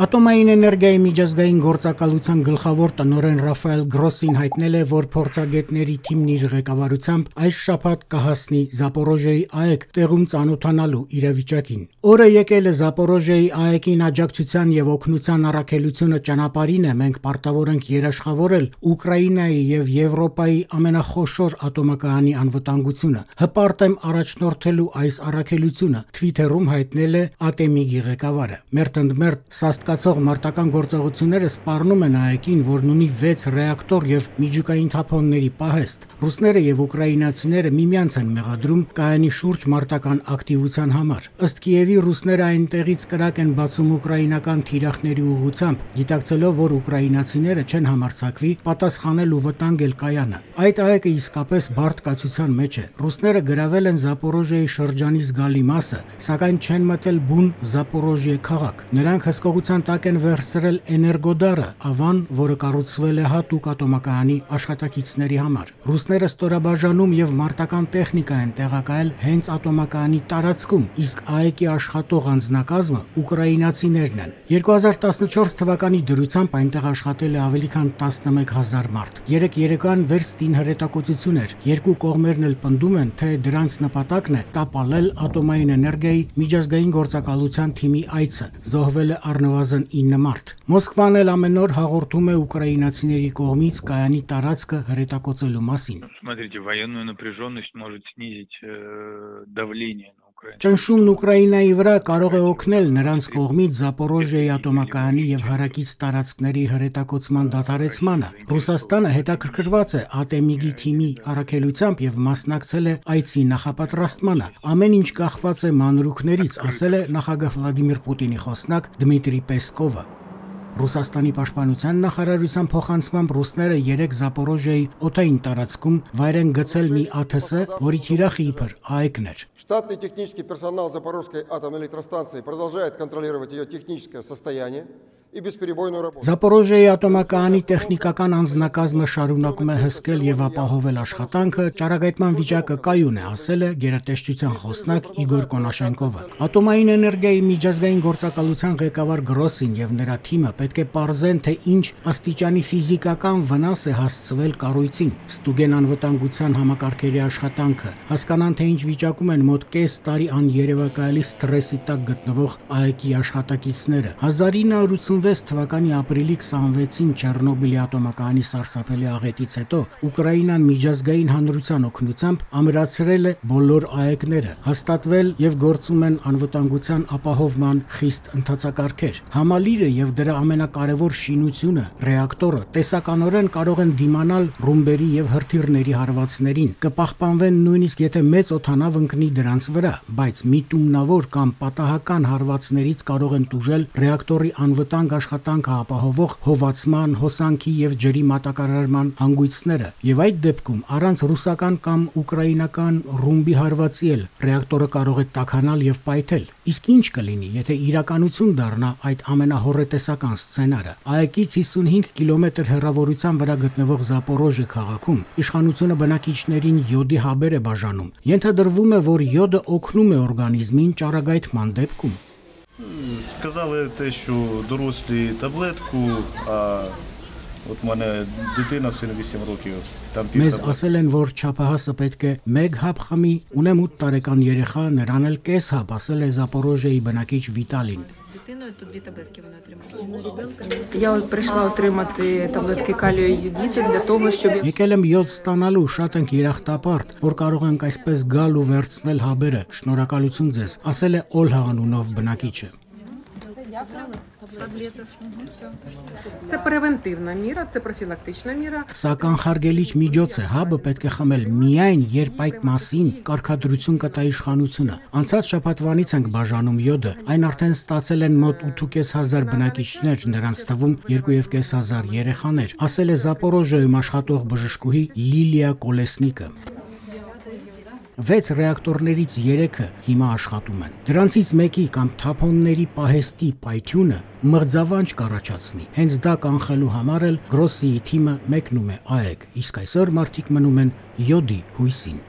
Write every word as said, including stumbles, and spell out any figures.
Ատոմային էներգիայի միջազգային գործակալության գլխավոր տնօրեն Ռաֆայել Գրոսին հայտնել է, որ փորձագետների թիմն իր ղեկավարությամբ այս շաբաթ կհասնի Զապորոժիայի ԱԷԿ տեղում ծանոթանալու իրավիճակին։ Օրը եկել է Զապորոժիայի ԱԵԿ-ին աջակցության եւ օգնության առաքելությունը ճանապարհին է, մենք պարտավոր ենք երաշխավորել Ուկրաինայի եւ Եվրոպայի ամենախոշոր ատոմակայանի անվտանգությունը։ Հպարտ եմ առաջնորդելու այս առաքելությունը, Twitter-ում հայտնել է ԱՏՄԻ-ի ղեկավարը։ Մերթընդմերթ Սաստկացող մարտական գործողությունները սպառնում են ԱԵԿ-ին, որն ունի վեց ռեակտոր եւ միջուկային թափոնների պահեստ։ Ռուսները եւ ուկրաինացիները միմյանց են մեղադրում կայանի շուրջ մարտական ակտիվության համար։ Ըստ Կիևի, ռուսները այնտեղից կրակ են բացում ուկրաինական թիրախների ուղղությամբ, գիտակցելով, որ ուկրաինացիները չեն համարձակվի պատասխանել ու վտանգել կայանը։ Այդ ԱԵԿ-ը իսկապես բարդ կացության մեջ է։ Ռուսները գրավել են Զապորոժիայի շրջանի զգալի մասը, սակայն չեն մտել բուն Զապորոժիե քաղաք։ Նրանք հսկողության տակ են վերցրել Էներգոդարը, ավան, որը կառուցվել է հատուկ ատոմակայանի աշխատակիցների համար։ Ռուսները ստորաբաժանում եւ մարտական տեխնիկա են տեղակայել հենց ատոմակայանի տարածքում, իսկ ԱԵԿ-ի աշխատող անձնակազմը ուկրաինացիներն են։ երկու հազար տասնչորս թվականի դրությամբ այնտեղ աշխատել է ավելի քան տասնմեկ հազար մարդ։ Երեք երեկոյան վերստին հրետակոծություն էր։ Երկու կողմերն էլ պնդում են, թե դրանց նպատակն է տապալել ատոմային էներգիայի միջազգային գործակալության թիմի այցը։ Զոհվել է առնվազն ինը մարդ։ Մոսկվան էլ ամեն օր հաղորդում է ուկրաինացիների կողմից կայանի տարածքը հրետակոծելու մասին։ Смотрите, военную напряженность может снизить давление на Украину. Ճնշումն Ուկրաինայի վրա կարող է օգնել նրանց կողմից Զապորոժիայի ատոմակայանի եւ հարակից տարածքների հրետակոծման դադարեցմանը։ Ռուսաստանը հետաքրքրված է ԱՏՄԻ-ի թիմի առաքելությամբ եւ մասնակցել է այցի նախապատրաստմանը։ Ամեն ինչ կախված է մանրուքներից, ասել է նախագահ Վլադիմիր Պուտինի խոսնակ Դմիտրի Պեսկովը։ Ռուսաստանի պաշտպանության նախարարության փոխանցմամբ ռուսները երեք Զապորոժիայի օդային տարածքում վայր են գցել մի ԱԹՍ, որի թիրախը իբր ԱԵԿ-ն էր։ Штатный технический персонал Запорожской атомной электростанции продолжает контролировать ее техническое состояние и бесперебойную работу. Զապորոժիայի ատոմակայանի տեխնիկական անձնակազմը շարունակում է հսկել եւ ապահովել աշխատանքը, ճառագայթման վիճակը կայուն է, ասել է գերատեսչության խոսնակ Իգոր Կոնաշենկովը։ Ատոմային էներգիայի միջազգային գործակալության ղեկավար Գրոսին եւ նրա թիմը պետք է պարզեն, թե ինչ աստիճանի ֆիզիկական վնաս է հասցվել կառույցին, ստուգեն անվտանգության համակարգերի աշխատանքը, հասկանան, թե ինչ վիճակում են մոտ կես տարի աներևակայալի սթրեսի տակ գտնվող ԱԵԿ-ի աշխատակիցները։ հազար ինը հարյուր ութսունվեց թվականի ապրիլի քսանվեցին Չեռնոբիլի ատոմակայանի սարսափելի աղետից հետո Ուկրաինան միջազգային հանրության օգնությամբ ամրացրել է բոլոր ԱԵԿ-ները, հաստատվել եւ գործում են անվտանգության ապահովման խիստ ընթացակարգեր։ Համալիրը եւ դրա ամենակարևոր շինությունը, ռեակտորը, տեսականորեն կարող են դիմանալ ռումբերի եւ հրթիռների հարվածներին, կպահպանվեն նույնիսկ եթե մեծ օդանավ ընկնի դրանց վրա, բայց միտումնավոր կամ պատահական հարվածներից կարող են տուժել ռեակտորի անվտանգ աշխատանքը ապահովող հովացման, հոսանքի եւ ջրի մատակարարման հանգույցները, եւ այդ դեպքում առանց ռուսական կամ ուկրաինական ռումբի հարվածի էլ ռեակտորը կարող է տաքանալ եւ պայթել։ Իսկ ինչ կլինի, եթե իրականություն դառնա այդ ամենահոռետեսական սցենարը։ ԱԵԿ-ից հիսունհինգ կիլոմետր հեռավորության վրա գտնվող Զապորոժիե քաղաքում իշխանությունը բնակիչներին յոդի հաբեր է բաժանում։ Ենթադրվում է, որ յոդը օգնում է օրգանիզմին ճառագայթման դեպքում։ Сказали те, що дорослі таблетку, а от мене дитина, син вісім років, там пів Մեզ ասել են, որ չափահասը պետք է մեկ հապ խմի, ունեմ ութ տարեկան երեխա, նրան էլ կես հապ, ասել է Զապորոժիայի բնակիչ Վիտալին։ Я от прийшла отримати таблетки калію і йодіту для того, щоб Եկել եմ յոդ ստանալու, շատ ենք երախտապարտ, որ կարող ենք այսպես գալ ու վերցնել հաբերը։ Շնորհակալություն ձեզ, ասել է Օլհա անունով բնակիչը։ це превентивна міра, це профілактична міра. Սա կանխարգելիչ միջոց է, հաբը պետք է խմել միայն, երբ այդ մասին կարգադրություն կտա իշխանությունը։ Անցած շաբաթվանից ենք բաժանում յոդը, այն արդեն ստացել են մոտ ութ հազար բնակիչներ, նրանց թվում երկու և կես հազար երեխաներ, ասել է Զապորոժիայում աշխատող բժշկուհի Լիլիա Կոլեսնիկը։ Վեց ռեակտորներից երեքը հիմա աշխատում են։ Դրանցից մեկի կամ թափոնների պահեստի պայթյունը մղձավանջ կառաջացնի։ Հենց դա կանխելու համար էլ Գրոսիի թիմը մեկնում է ԱԵԿ, իսկ այսօր մարդիկ մնում են յոդի հույսին։